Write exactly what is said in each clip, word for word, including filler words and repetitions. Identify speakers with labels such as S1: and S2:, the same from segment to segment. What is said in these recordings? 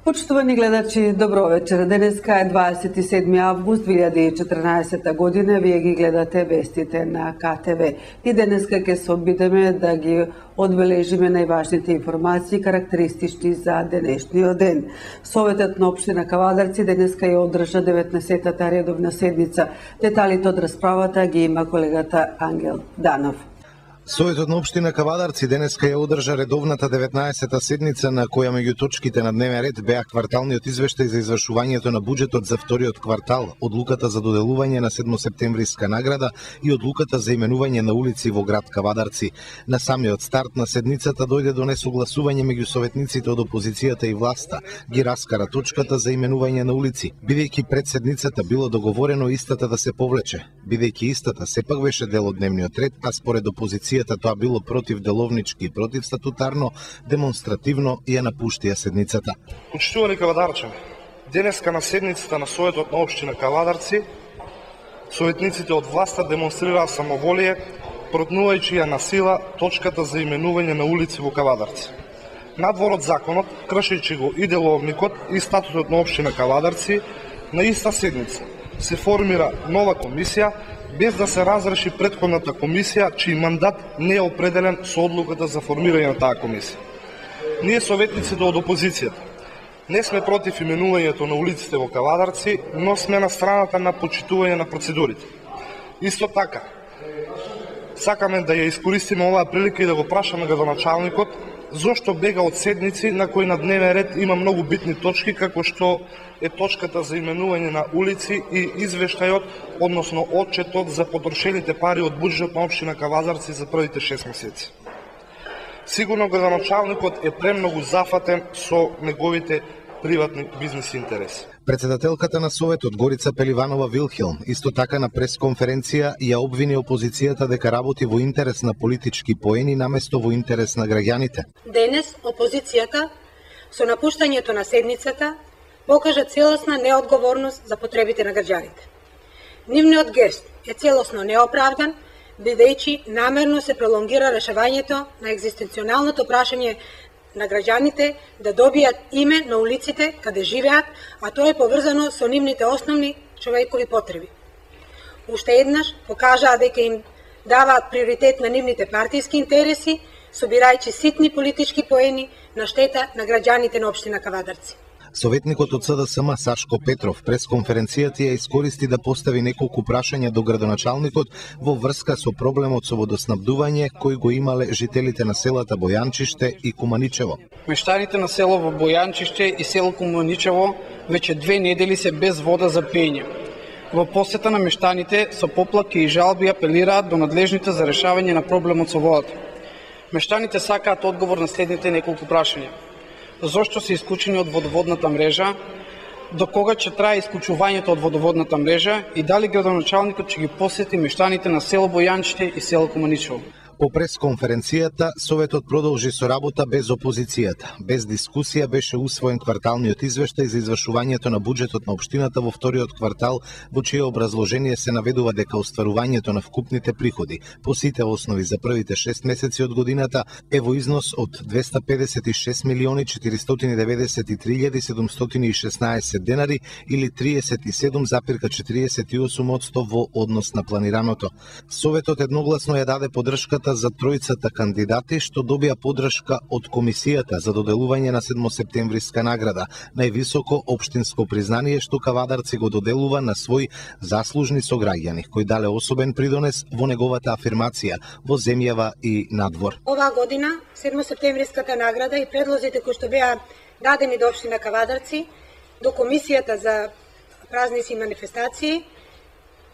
S1: Почитувани гледачи, добро вечер. Денеска е дваесет и седми август две илјади и четрнаесета година. Вие ги гледате вестите на К Т В. И денеска ќе се обидеме да ги одбележиме најважните информации карактеристични за денешниот ден. Советот на општина Кавадарци денеска ја одржа деветнаесеттата редовна седница. Деталите од расправата ги има колегата Ангел Данов.
S2: Советот на општина Кавадарци денеска ја одржа редовната деветнаесета седница на која меѓу точките на дневен ред беа кварталниот извештај за извршувањето на буџетот за вториот квартал, одлуката за доделување на седмосептемвриска награда и одлуката за именување на улици во град Кавадарци. На самиот старт на седницата дојде до несогласување меѓу советниците од опозицијата и власта. Ги раскара точката за именување на улици, бидејќи пред седницата било договорено истата да се повлече, бидејќи истата сепак беше дел од дневниот ред, а според опозицијата тоа било противделовнички и противстатутарно, демонстративно ја напуштија седницата.
S3: Почитувани кавадарчани, денеска на седницата на Советот на општина Кавадарци, советниците од власта демонстрираа самоволие, протнувајќи ја на сила точката за именување на улици во Кавадарци. Надвор од законот, кршејќи го и деловникот и статутот на општина Кавадарци, на иста седница се формира нова комисија, без да се разреши претходната комисија, чиј мандат не е определен со одлуката за формирање на таа комисија. Ние советниците од опозицијата не сме против именувањето на улиците во Кавадарци, но сме на страната на почитување на процедурите. Исто така, сакаме да ја искористиме оваа прилика и да го прашаме градоначалникот зошто бега од седници на кои на дневен ред има многу битни точки, како што е точката за именување на улици и извештајот, односно отчетот за потрошените пари од буџетот на општина Кавадарци за првите шест месеци. Сигурно градоначалникот е премногу зафатен со неговите приватни бизнес интереси.
S2: Председателката на Советот Горица Пеливанова Вилхелм исто така на пресконференција ја обвини опозицијата дека работи во интерес на политички поени наместо во интерес на граѓаните.
S4: Денес опозицијата со напуштањето на седницата покажа целосна неодговорност за потребите на граѓаните. Нивниот гест е целосно неоправдан, бидејќи намерно се пролонгира решавањето на екзистенционалното прашање на граѓаните да добијат име на улиците каде живеат, а тоа е поврзано со нивните основни човекови потреби. Уште еднаш покажаа дека им даваат приоритет на нивните партиски интереси, собирајќи ситни политички поени на штета на граѓаните на општина Кавадарци.
S2: Советникот од С Д С М Сашко Петров прес конференцијата ја искористи да постави неколку прашања до градоначалникот во врска со проблемот со водоснабдување кој го имале жителите на селата Бојанчиште и Куманичево.
S5: Мештаните на село во Бојанчиште и село Куманичево веќе две недели се без вода за пиење. Во посета на мештаните со поплаки и жалби апелираат до надлежните за решавање на проблемот со водата. Мештаните сакаат одговор на следните неколку прашања. Зошто се исклучени од водоводната мрежа, до кога ќе трае исклучувањето од водоводната мрежа и дали градоначалникот ќе ги посети мештаните на село Бојанчиште и село Куманичево.
S2: По пресконференцијата, Советот продолжи со работа без опозицијата. Без дискусија беше усвоен кварталниот извештај за извршувањето на буџетот на општината во вториот квартал, во чие образложение се наведува дека остварувањето на вкупните приходи по сите основи за првите шест месеци од годината е во износ од двесте педесет и шест милиони четиристотини деветдесет и три илјади седумстотини и шеснаесет денари или триесет и седум запирка четириесет и осум одсто во однос на планираното. Советот едногласно ја даде поддршката за тројцата кандидати што добија поддршка од комисијата за доделување на седмосептемвриска награда, највисоко општинско признание што Кавадарци го доделува на свој заслужни сограѓани кои дале особен придонес во неговата афирмација во земјава и надвор.
S4: Оваа година седмосептемвриската награда и предлозите кои што беа дадени до општина Кавадарци до комисијата за празници и манифестации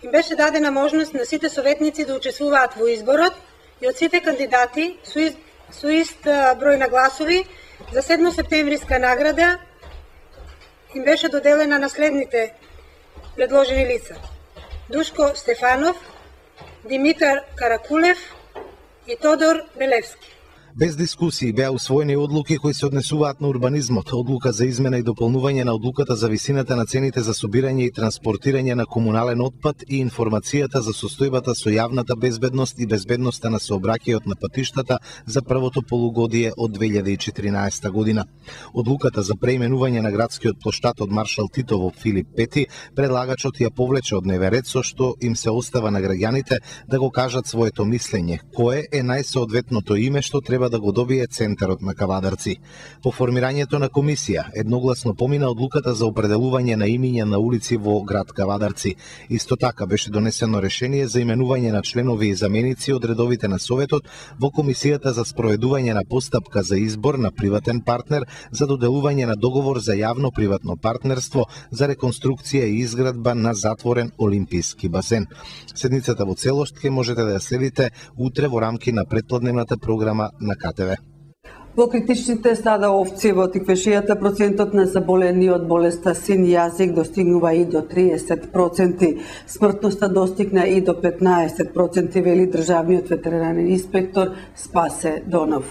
S4: им беше дадена можност на сите советници да учествуваат во изборот и од сите кандидати со, из, со ист број на гласови за седмосептемвриска награда им беше доделена на следните предложени лица: Душко Стефанов, Димитар Каракулев и Тодор Белевски.
S2: Без дискусии беа усвоени одлуки кои се однесуваат на урбанизмот, одлука за измена и дополнување на одлуката за висината на цените за собирање и транспортирање на комунален отпад и информацијата за состојбата со јавната безбедност и безбедноста на сообраќајот на патиштата за првото полугодие од две илјади и четиринаесета година. Одлуката за преименување на градскиот плоштад од Маршал Тито во Филип Пети, предлагачот ја повлече од дневен ред, со што им се остава на граѓаните да го кажат своето мислење, кое е најсоодветното име што треба да го добие центарот на Кавадарци. По формирањето на комисија, едногласно помина одлуката за определување на имиња на улици во град Кавадарци. Исто така беше донесено решение за именување на членови и заменици од редовите на Советот во комисијата за спроведување на постапка за избор на приватен партнер за доделување на договор за јавно-приватно партнерство за реконструкција и изградба на затворен олимписки базен. Седницата во целост ќе можете да ја следите утре во рамки на претпладневната програма на Ка Те Ве.
S1: Во критичните стада овци во Тиквешијата процентот на заболени од болеста син јазик достигнува и до триесет проценти. Смртноста достигна и до петнаесет проценти, вели државниот ветеринарен инспектор Спасе Донов.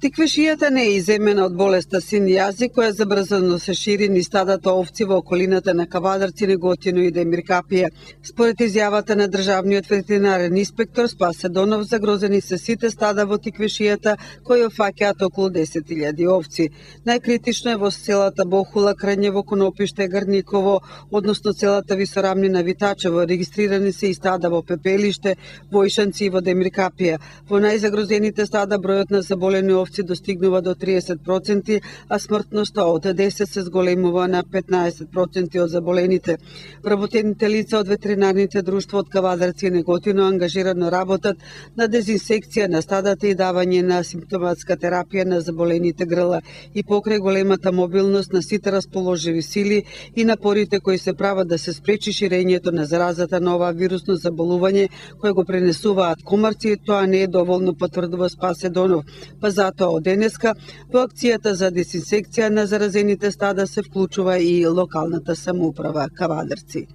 S1: Тиквешијата не е иземена од болеста син јазик, која забрзано се шири низ стадата овци во околината на Кавадарци, Неготино и Демиркапија. Според изјавата на државниот ветеринарен инспектор Спасе Донов, загрозени се сите стада во Тиквешијата, кои опфаќаат околу десет илјади овци. Најкритично е во селата Бохула, Крњево, Конопиште, Гарниково, односно целата висорамнина Витачево. Регистрирани се и стада во Пепелиште, Војшанци и во Демиркапија. Во најзагрозените стада бројот на заболени овци достигнува до триесет проценти, а смртноста од десет се зголемува на петнаесет проценти од заболените. Вработените лица од ветеринарните друштва од Кавадарци и Неготино ангажирано работат на дезинсекција на стадата и давање на симптоматска терапија на заболените грла. И покрај големата мобилност на сите расположиви сили и напорите кои се прават да се спречи ширењето на заразата на ова вирусно заболување кое го пренесуваат комарци, тоа не е доволно, потврдува Спасе Донов. Па затоа од денеска во акцијата за дезинсекција на заразените стада се вклучува и локалната самоуправа Кавадарци.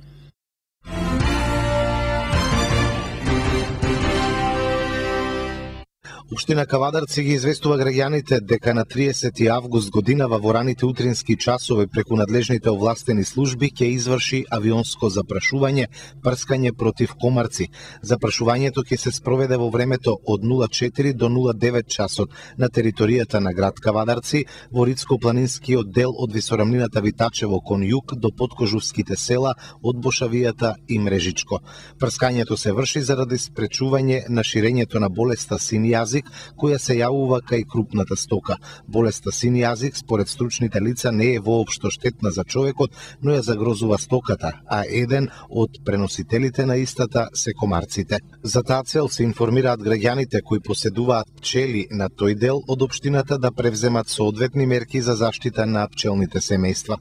S2: Општина Кавадарци ги известува граѓаните дека на триесети август годинава во раните утрински часови преку надлежните овластени служби ќе изврши авионско запрашување, прскање против комарци. Запрашувањето ќе се спроведе во времето од нула четири до нула девет часот на територијата на град Кавадарци, во Рицко-планинскиот дел од висорамнината Витачево кон југ до подкожувските села од Бошавијата и Мрежичко. Прскањето се врши заради спречување на ширењето на болеста син јазик, која се јавува кај крупната стока. Болеста син јазик, според стручните лица, не е воопшто штетна за човекот, но ја загрозува стоката, а еден од преносителите на истата се комарците. За таа цел се информираат граѓаните кои поседуваат пчели на тој дел од општината да превземат соодветни мерки за заштита на пчелните семејства.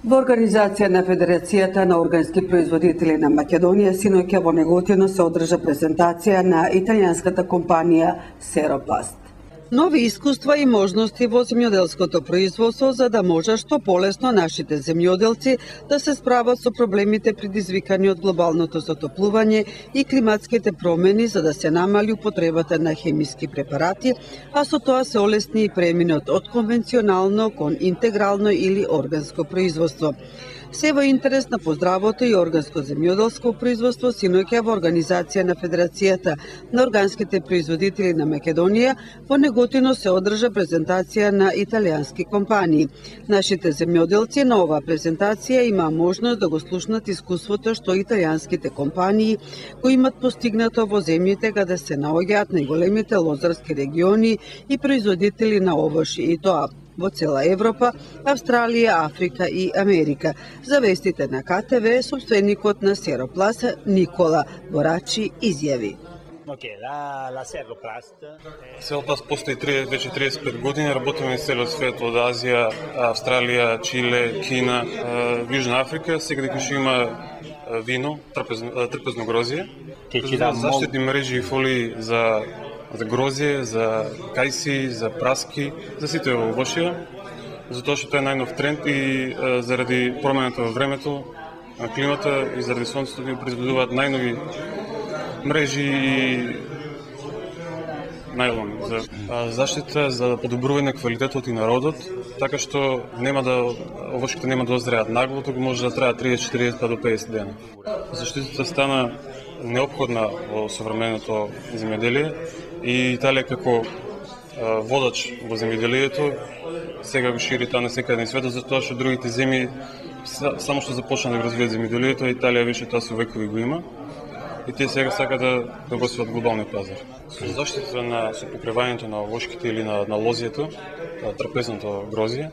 S1: Во организација на Федерацијата на органски производители на Македонија синоќа во Неготино се одржа презентација на италијанската компанија Серопласт. Нови искуства и можности во земјоделското производство за да може што полесно нашите земјоделци да се справат со проблемите предизвикани од глобалното затоплување и климатските промени за да се намали употребата на хемиски препарати, а со тоа се олесни и преминот од конвенционално кон интегрално или органско производство. Се во интерес на поздравото и органско земјоделско производство, синоќа во организација на Федерацијата на органските производители на Македонија во Неготино се одржа презентација на италијански компании. Нашите земјоделци на оваа презентација има можност да го слушнат искуството што италијанските компании кои имат постигнато во земјите каде се наоѓаат најголемите лозарски региони и производители на овошје, и тоа во цела Европа, Австралија, Африка и Америка. За вестите на Ка Те Ве, собственикот на Серопласт Никола Борачи изјави.
S6: Серопласт постои веќе триесет и пет години, работиме на целиот свет, од Азија, Австралија, Чиле, Кина, Јужна Африка. Сега дека ќе има вино, трпезно, трпезно грозје, заштитни мрежи и фолии за за грозје, за кајси, за праски, за сите овошја, затоа што тоа е најнов тренд и а, заради промената во времето, на климата и заради сонцето ни произведуваат најнови мрежи и најлон за а, заштита за подобрување на квалитетот и народот, така што нема да овошките нема да озреат нагло, туку може да трае триесет, четириесет па до педесет дена. Заштитата стана неопходна во современото земјоделие и Италија како а, водач во земјоделието сега го шири тоа на секаде на светот, затоа што другите земји само што започна да го развијат земјоделието, Италија веќе тоа со векови го има. И тие сега сакаат да, да го сват глобални пазар. Со заштита на со покривањето на овошките или на, на лозието, трапезното грозје,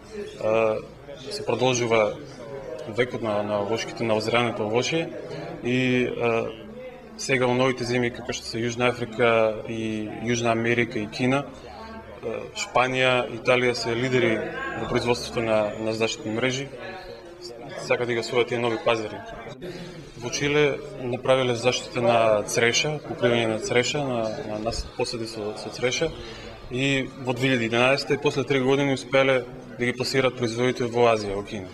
S6: се продолжува векот на, на овошките, на озреането овошје и а, сега во новите земји како што се Јужна Африка и Јужна Америка и Кина, Шпанија, Италија се лидери во производството на, на заштитни мрежи, сакаат да ги освојат тие нови пазари. Во Чиле направиле заштита на цреша, покривање на цреша, на, на нас посади со, со цреша и во две илјади и единаесета и после три години успеле да ги пласираат производите во Азија, во Кина.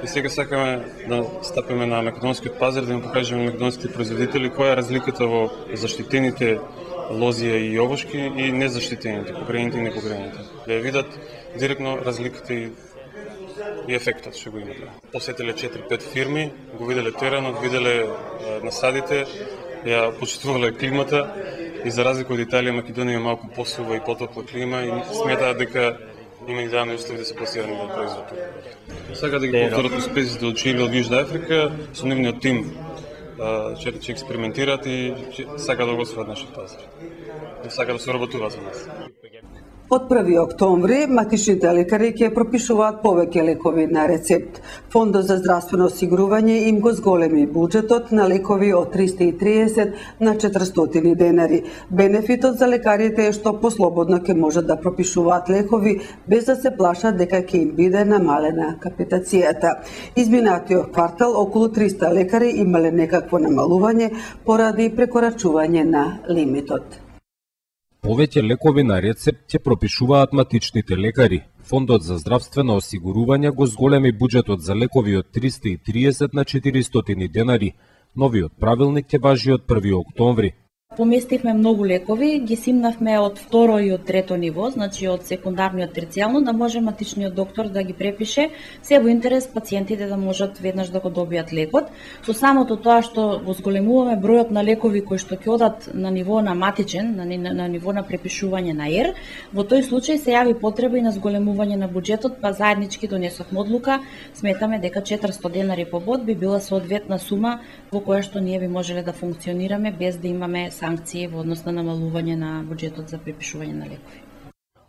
S6: И сега сакаме да стапиме на македонскиот пазар, да им покажеме на македонските производители која е разликата во заштитените лозија и овошки и незаштитените, покриените и непокриените. Да ја видат директно разликата и и ефектот што го имате. Посетиле четири-пет фирми, го виделе теренот, виделе насадите, ја почитувале климата и за разлика од Италија, Македонија има малку посува и потопла клима и сметаат дека има идеални услови да се пласирани во производот. Сега да ги повторат успесите од Чиле, од Јужна Африка, со нивниот тим ќе ќе експериментираат и сака да го освојат нашиот пазар. И сака да се работува за нас.
S1: Од први октомври матичните лекари ќе пропишуваат повеќе лекови на рецепт. Фондот за здравствено осигурување им го зголеми буџетот на лекови од триста и триесет на четиристотини денари. Бенефитот за лекарите е што послободно ќе можат да пропишуваат лекови без да се плашат дека ќе им биде намалена капитацијата. Изминатиот квартал околу триста лекари имале некакво намалување поради прекорачување на лимитот.
S7: Повеќе лекови на рецепт ќе пропишуваат матичните лекари. Фондот за здравствено осигурување го зголеми буџетот за лекови од триста и триесет на четиристотини денари. Новиот правилник ќе важи од први октомври.
S8: Поместивме многу лекови, ги симнавме од второ и од трето ниво, значи од секундарно и од терцијално, да може матичниот доктор да ги препише, се во интерес пациентите да можат веднаш да го добијат лекот. Со самото тоа што го зголемуваме бројот на лекови кои што ќе одат на ниво на матичен, на, на, на ниво на препишување на ЕР, во тој случај се јави потреба и на зголемување на буџетот, па заеднички донесовме одлука, сметаме дека четиристотини денари по бод би била соодветна сума во која што ние би можеле да функционираме без да имаме санкции во однос на намалување на буџетот за препишување на лекови.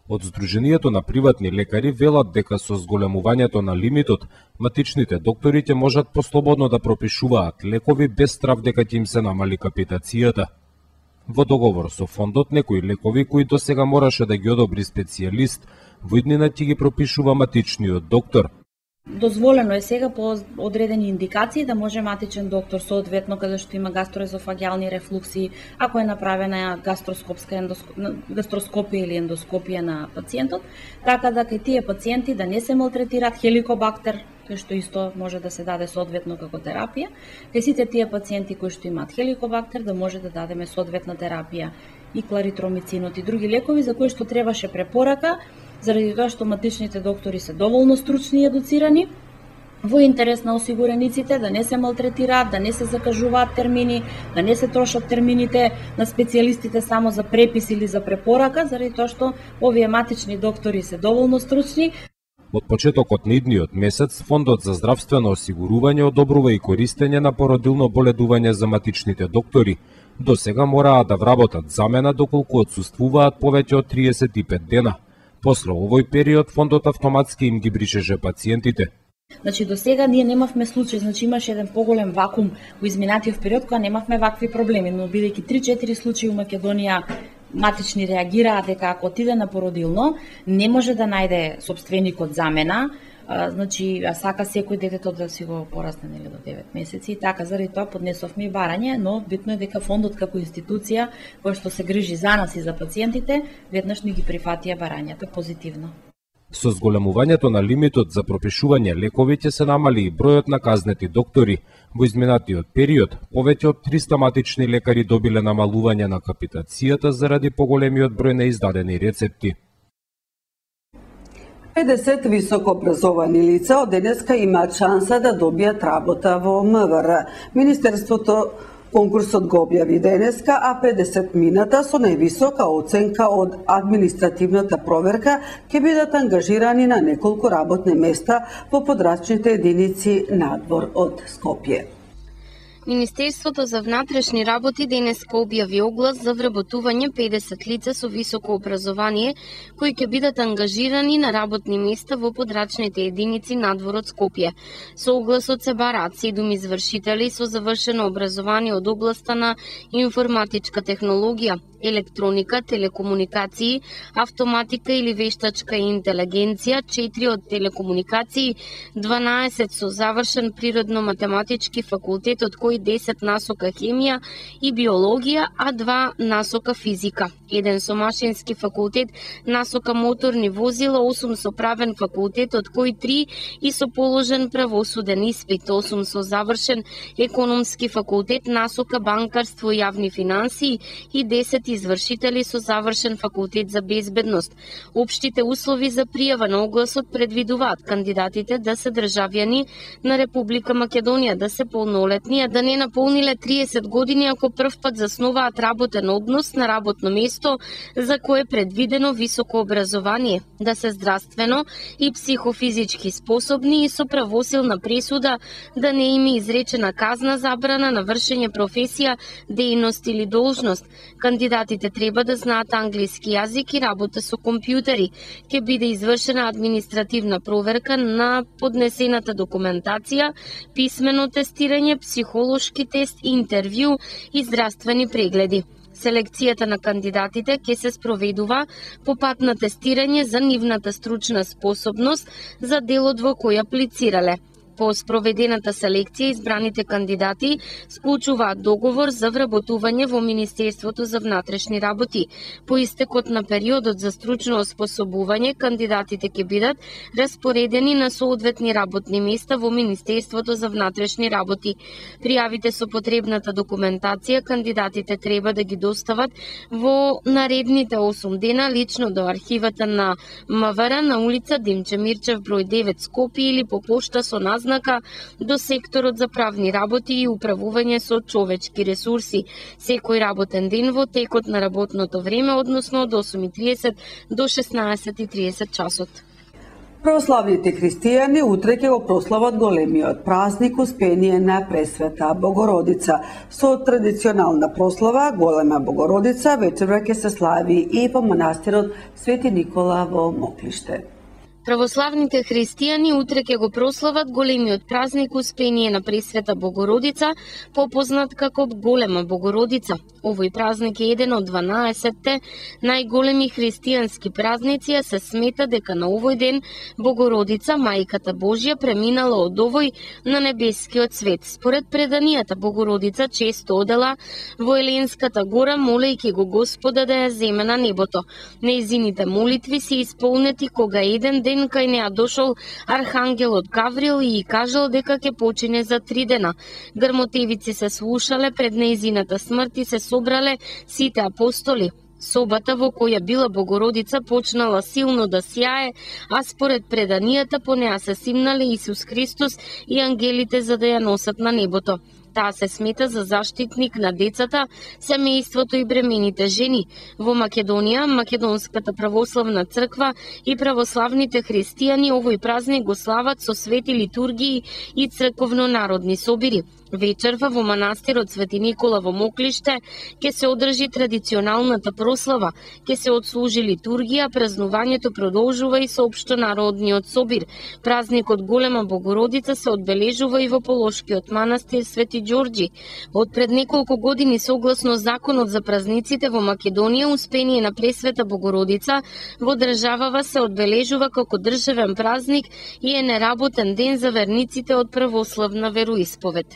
S7: Од Сдруженијето на приватни лекари велат дека со зголемувањето на лимитот, матичните доктори ќе можат послободно да пропишуваат лекови без страв дека ќе им се намали капитацијата. Во договор со фондот, некои лекови кои досега мораше да ги одобри специјалист, во иднина ќе ги пропишува матичниот доктор.
S8: Дозволено е сега по одредени индикации да може матичен доктор соодветно каде што има гастроезофагиални рефлукси, ако е направена гастроскопска ендоск... гастроскопија или ендоскопија на пациентот, така да кај тие пациенти да не се малтретираат хеликобактер, кој што исто може да се даде соодветно како терапија. Кај сите тие пациенти кои што имаат хеликобактер да може да дадеме соодветна терапија и кларитромицинот и други лекови за кои што требаше препорака, заради тоа што матичните доктори се доволно стручни и едуцирани, во интерес на осигурениците да не се малтретираат, да не се закажуваат термини, да не се трошат термините на специјалистите само за препис или за препорака, заради тоа што овие матични доктори се доволно стручни.
S7: Од почетокот на идниот месец, Фондот за здравствено осигурување одобрува и користење на породилно боледување за матичните доктори. До сега мораа да вработат замена доколку отсуствуваат повеќе од триесет и пет дена. После овој период, фондот автоматски им ги бришеше пациентите.
S8: Значи, до сега ние немавме случај, значи имаше еден поголем вакуум во изминатиот период кога немавме вакви проблеми, но бидејќи три-четири случаи во Македонија матични реагираат дека ако отиде на породилно, не може да најде сопственикот замена, а, значи, а сака секој детето да си го порасне нели до девет месеци и така, заради тоа поднесовме и барање, но битно е дека фондот како институција која што се грижи за нас и за пациентите, веднаш ни ги прифатија барањата позитивно.
S7: Со зголемувањето на лимитот за пропишување лекови ќе се намали и бројот на казнети доктори. Во изминатиот период, повеќе од триста матични лекари добиле намалување на капитацијата заради поголемиот број на издадени рецепти.
S1: педесет високообразовани лица од денеска имаат шанса да добијат работа во М В Р. Министерството конкурсот го објави денеска, а педесет мината со највисока оценка од административната проверка ќе бидат ангажирани на неколку работни места во подрачните единици надвор од Скопје.
S9: Министерството за внатрешни работи денеска објави оглас за вработување педесет лица со високо образование кои ќе бидат ангажирани на работни места во подрачните единици надвор од Скопје. Со огласот се бараат седум извршители со завршено образование од областа на информатичка технологија, електроника, телекомуникации, автоматика или вештачка интелигенција, четири од телекомуникации, дванаесет со завршен природно-математички факултет, од кои десет насока хемија и биологија, а два насока физика, еден со машински факултет, насока моторни возила, осум со правен факултет, од кои три и со положен правосуден испит, осум со завршен економски факултет, насока банкарство и јавни финансии и десет извршители со завршен факултет за безбедност. Општите услови за пријава на огласот предвидуваат кандидатите да се државјани на Република Македонија, да се полнолетни, а да не наполниле триесет години ако прв пат заснуваат работен однос на работно место за кое е предвидено високо образование, да се здравствено и психофизички способни и со правосилна пресуда, да не има изречена казна забрана на вршење професија, дејност или должност. Кандидатите треба да знаат англиски јазик и работа со компјутери. Ќе биде извршена административна проверка на поднесената документација, писмено тестирање, психолошки тест, интервју и здравствени прегледи. Селекцијата на кандидатите ќе се спроведува по пат на тестирање за нивната стручна способност за делот во кој аплицирале. По спроведената селекција, избраните кандидати склучуваат договор за вработување во Министерството за внатрешни работи. По истекот на периодот за стручно оспособување, кандидатите ќе бидат распоредени на соодветни работни места во Министерството за внатрешни работи. Пријавите со потребната документација кандидатите треба да ги достават во наредните осум дена лично до архивата на М В Р на улица Димче Мирчев број девет Скопје или по пошта со знака до секторот за правни работи и управување со човечки ресурси, секој работен ден во текот на работното време, односно од осум и триесет до шеснаесет и триесет часот.
S1: Православните христијани утре ќе го прослават големиот празник Успение на Пресвета Богородица. Со традиционална прослава Голема Богородица вечерва ќе се слави и во манастирот Свети Никола во Моклиште.
S9: Православните христијани утре ќе го прослават големиот празник Успение на Пресвета Богородица, попознат како Голема Богородица. Овој празник е еден од дванаесетте најголеми христијански празници, а се смета дека на овој ден Богородица, Мајката Божја, преминала од овој на небескиот свет. Според преданијата, Богородица често одела во Еленската гора, молејќи го Господа да ја земе на небото. Нејзините молитви се исполнети кога еден ден кај неа дошол архангелот Гаврил и ја кажал дека ќе почине за три дена. Грмотевици се слушале пред нејзината смрт и се собрале сите апостоли. Собата во која била Богородица почнала силно да сјае, а според преданијата по неа се симнале Исус Христос и ангелите за да ја носат на небото. Таа се смета за заштитник на децата, семејството и бремените жени. Во Македонија, Македонската православна црква и православните христијани овој празник го слават со свети литургии и црковно-народни собири. Вечерва во манастирот Свети Никола во Моклиште ќе се одржи традиционалната прослава, ќе се отслужи литургија, празнувањето продолжува и со општонародниот собир. Празникот Голема Богородица се одбележува и во Полошкиот манастир Свети Ѓорѓи. Од пред неколку години согласно законот за празниците во Македонија, Успение на Пресвета Богородица во државава се одбележува како државен празник и е неработен ден за верниците од православна вероисповед.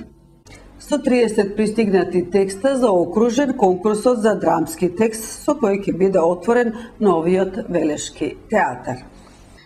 S1: Со триесет пристигнати текста заокружен конкурсот за драмски текст со кој ќе биде отворен новиот Велешки театар.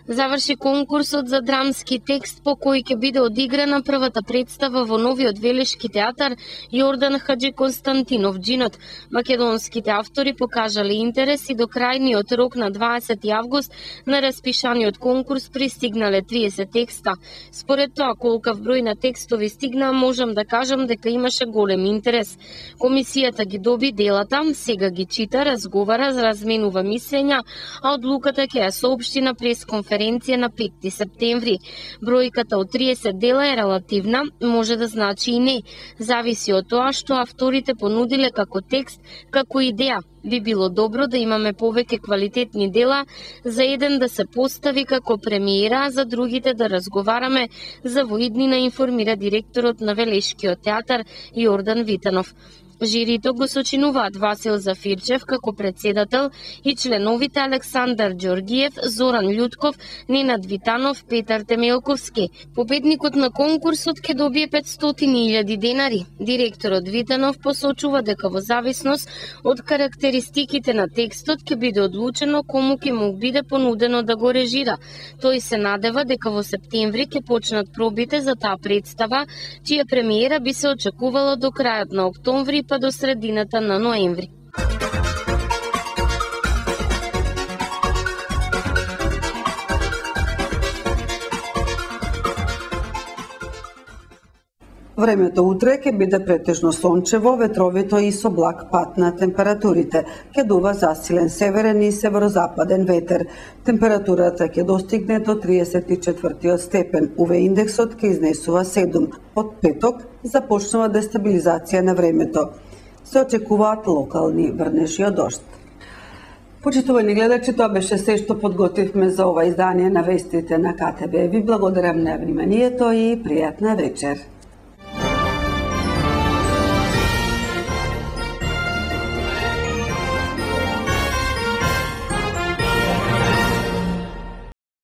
S9: Заврши конкурсот за драмски текст по кој ќе биде одиграна првата представа во новиот Велешки театар Јордан Хаџи Константинов Џинот. Македонските автори покажале интерес и до крајниот рок на дваесети август на распишаниот конкурс пристигнале триесет текста. Според тоа колкав број на текстови стигна, можам да кажам дека имаше голем интерес. Комисијата ги доби делата, сега ги чита, разговара, разменува мислења, а одлуката ќе ја соопшти на пресконференција на петти септември. Бројката од триесет дела е релативна, може да значи и не. Зависи од тоа што авторите понудиле како текст, како идеја. Би било добро да имаме повеќе квалитетни дела, за еден да се постави како премиера, а за другите да разговараме за во иднина, информира директорот на Велешкиот театар Јордан Витанов. Жирито го сочинуваат Васил Зафирчев како председател и членовите Александар Ѓоргиев, Зоран Љутков, Ненад Витанов, Петар Темелковски. Победникот на конкурсот ќе добие петстотини илјади денари. Директорот Витанов посочува дека во зависност од карактеристиките на текстот ќе биде одлучено кому ќе му биде понудено да го режира. Тој се надева дека во септември ќе почнат пробите за таа представа, чија премиера би се очекувала до крајот на октомври па до средината на ноември.
S1: Времето утре ќе биде претежно сончево, ветровито и со благ пат на температурите. Ќе дува засилен северен и северозападен ветер. Температурата ќе достигне до триесет и четвртиот степен. У ве индексот ќе изнесува седум. Од петок започнува дестабилизација на времето. Се очекуваат локални врнежи од дожд. Почитувани гледачи, тоа беше се што подготвивме за ова издание на вестите на ка те ве. Ви благодарам на вниманието и пријатна вечер.